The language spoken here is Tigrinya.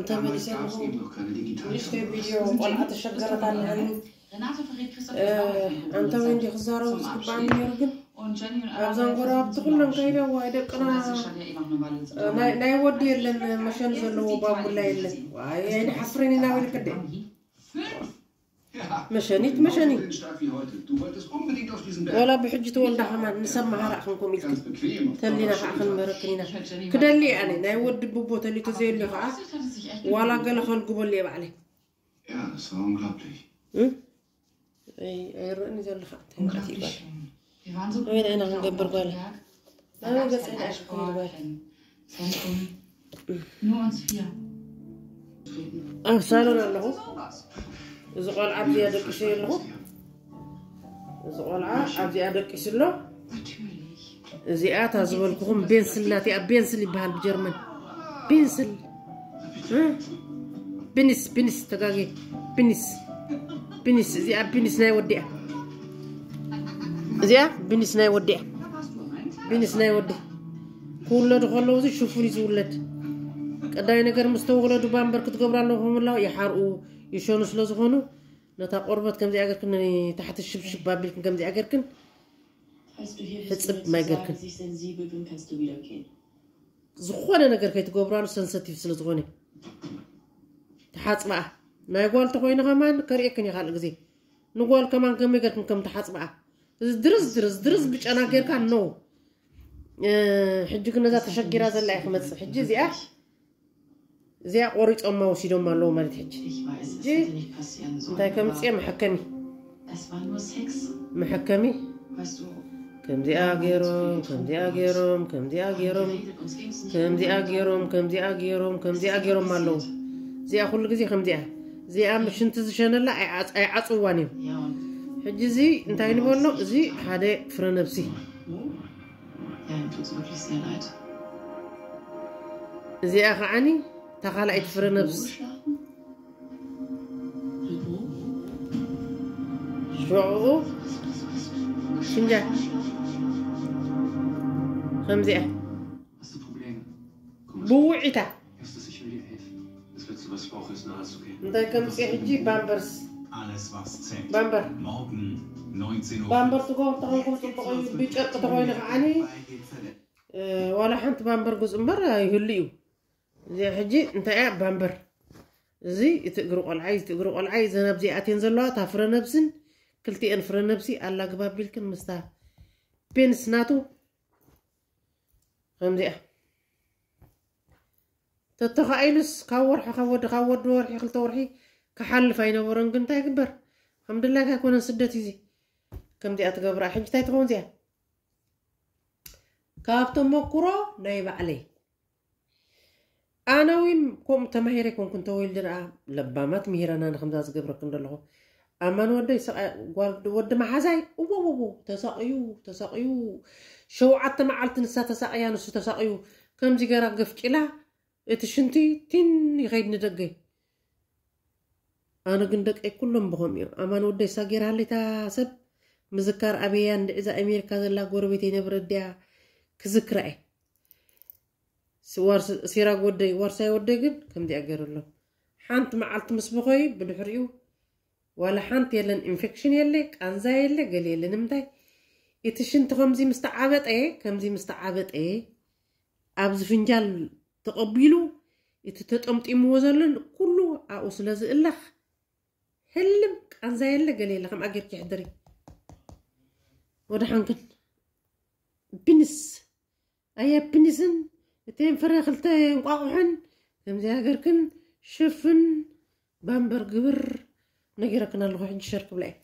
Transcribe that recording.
ተመሊሰ ኣለኹ። ንእሽተይ ቪድዮ ቆልዓ ተሸገረት ኣለኒ። ኣንተ ወይንዲ ክዛረቡ ዝግባኣኒ ነይሩ፣ ግን ኣብዛን ጎረባብቲ ኩለን ከይደ፣ ዋይ ደቅና፣ ናይ ወዲ የለን፣ መሸኒ ዘለዎ ባቡላ የለን። ዋይ ኣይንሓፍርን ኢና፣ ወይልክደ መሸኒት መሸኒ። ወላ ብሕጂ ተወልዳ ከማን ንሰብ መሃራ ክንኩም ኢልክን ተሊና ከዓ ክንመረክን ኢና። ክደሊ ኣነ ናይ ወዲ ብቦ ተሊቶ ዘየሉ ከዓ ዋላ ገለ ከልግበሉ እየ ባዕለይ። Ja, das war unglaublich. እ? ኣይ- ኣይረእን እዩ ዘለካ እንታይ ማለት እዩ ጓል? ኣበይ ኢና ክንገብር ጓል? ኣበይ ገፀ ኢና ክንብል ጓል? Nur uns vier. ኣብ ሳሎን ኣለኹ። እዚ ቆልዓ ኣብዚኣ ደቂሱ ኣለኹ። እዚ ቆልዓ ኣብዚኣ ደቂሱ ኣሎ። Natürlich. እዚኣ እታ ዝበልኩኹም ቤንስል ናት እያ። ቤንስል ይበሃል ብጀርመን። ቤንስል እ? ብኒስ ብኒስ ተጋጌ ብኒስ ብኒስ እዚኣ ብኒስ ናይ ወዲያ እዚኣ ብኒስ ናይ ወዲያ ብኒስ ናይ ወዲ ክውለዱ ከለዉ እዚ ሽፉን እዩ ዝውለድ። ቀዳይ ነገር ምስ ተወለዱ ባምበር ክትገብሩ ኣለኹም። ላ ይሓርኡ ይሸኑ ስለ ዝኾኑ ነታ ቆርበት ከምዚኣ ገርክን ታሕቲ ሽብሽብ ኣቢልክን ከምዚኣ ገርክን Falls du hier Jetzt bist, um mir mein zu sagen, Gürtel. dass ich sensibel bin, kannst du wieder gehen. ዝኾነ ነገር ከይትገብራሉ ሰንሰቲቭ ስለ ዝኾነ ተሓፅበኣ ናይ ጓል ተኮይኑ ከማን ከርእየክን እየ ካልእ ግዜ ንጓል ከማን ከመይ ገርክን ከም ተሓፅበኣ እዚ ድርዝ ድርዝ ድርዝ ብጨና ጌርካ ነው ሕጂ ግን ነዛ ተሸጊራ ዘላ እየ ክመፅእ ሕጂ እዚኣ እዚኣ ቆሪፆማ ወሲዶማ ኣለዉ ማለት ሕጂ Ich weiß, es Geh. hätte nicht passieren sollen. እንታይ ከምፅየ መሐከሚ Es war nur Sex. መሐከሚ Weißt du, ከምዚኣ ገይሮም ከምዚኣ ገይሮም ከምዚኣ ገይሮም geredet, uns ging es nicht ከምዚኣ gut. ገይሮም ከምዚኣ ገይሮም ከምዚኣ ገይሮም ኣለዉ እዚኣ ኩሉ ግዜ ከምዚኣ እዚኣ ምሽንቲ ዝሸነላ ኣይዓፅ- ኣይዓፅዋን እዮም Ja, und ሕጂ እዚ እንታይ ንበሎ እዚ ሓደ ፍረ ነብሲ wo? Ja, ihm tut es wirklich sehr leid. እዚኣ ከዓኒ እታ ካልኣይቲ ፍረ ነብሲ Wo schlafen? Und wo? ሽዑ ሽንጃ ከምዚኣ Hast du Probleme? Komm, ብውዒታ hörst du, ich will dir helfen. Das Letzte, was ich brauche, ist eine Halskette. እንታይ ከምፅእ ሕጂ ባምበርስ Alles, was zählt. ባምበር Morgen, neunzehn Uhr. ባምበር ትገብር ተኾንኩም ፅቡቕ እዩ ብጨርቂ ተኾይኑ ከዓኒ እ፣ ዋላ ሓንቲ ባምበር ጉፅ እምበር ይህሉ እዩ እዚ ሕጂ እንታይ እያ ባምበር እዚ እቲ እግሪ ቆልዓይ እቲ እግሪ ቆልዓይ ዘን ኣብዚ ኣትየን ዘለዋ እታ ፍረ ነብስን ክልቲኤን ፍረ ነብሲ ኣላግባብ ቢልክን ምስታ ፔንስ ናቱ ከምዚኣ ተተኻኢሉስ ካብ ወርሒ ካብ ወዲ ካብ ወዲ ወርሒ ክልተ ወርሒ ክሓልፍ ኣይነበሮን ግን እንታይ ይግበር ከም ድላይካ ኣይኮነን ስደት እዚ ከምዚኣ ትገብራ ሕጂ እንታይ ትኸውን እዚኣ ካብ ተመኩሮ ናይ ባዕለይ ኣነ ውን ከምኡ ተማሂረ ኣይኮንኩን ተወልደ ደኣ ለባማት ምሂረና ንከምዛ ዝገብረክን ዘለኹ ኣማን ወደይ ሰቓ- ጓል ወዲ መሓዛይ እወወዎ ተሳቕዩ ተሳቕዩ ሸውዓተ መዓልቲ ንሳ ተሳቕያ ንሱ ተሳቕዩ ከምዚ ገራ ገፍጭላ እቲ ሽንቲ ቲን ይኸይድ ንደገ ኣነ ግን ደቀይ ኩሎም ብኸም እዮም ኣማን ወደይ ሳጌር ሃለይታ ሰብ ምዝካር ኣበያ እንድዕዛ ኣሜሪካ ዘላ ጎረቤት የነብረ ድያ ክዝክራ እየ ሲራግ ወደይ ዋርሳይ ወደይ ግን ከምዚኣ ገይሩ ኣሎ ሓንቲ መዓልቲ ምስ በኸዩ ብድሕሪኡ ዋላ ሓንቲ የለን ኢንፌክሽን የለ ቃንዛ የለ ገለ የለ ንምንታይ እቲ ሽንቲ ከምዚ ምስ ተዓበጠ ከምዚ ምስ ተዓበጠ ኣብዚ ፍንጃል ተቐቢሉ እቲ ተጠምጢምዎ ዘሎ ኩሉ ኣብኡ ስለ ዝእለኽ ህልም ቃንዛ የለ ገለ የለ ከምኣ ጌርኪ ሕደሪ ወደ ሓንክን ቢንስ ኣየ ቢንስን እተን ፍረ ክልተ እንቋቑሕን ከምዚ ሃገርክን ሽፍን ባምበር ግብር ነጊረክን ኣለኹ ሕጂ ሸር ክብላ እየ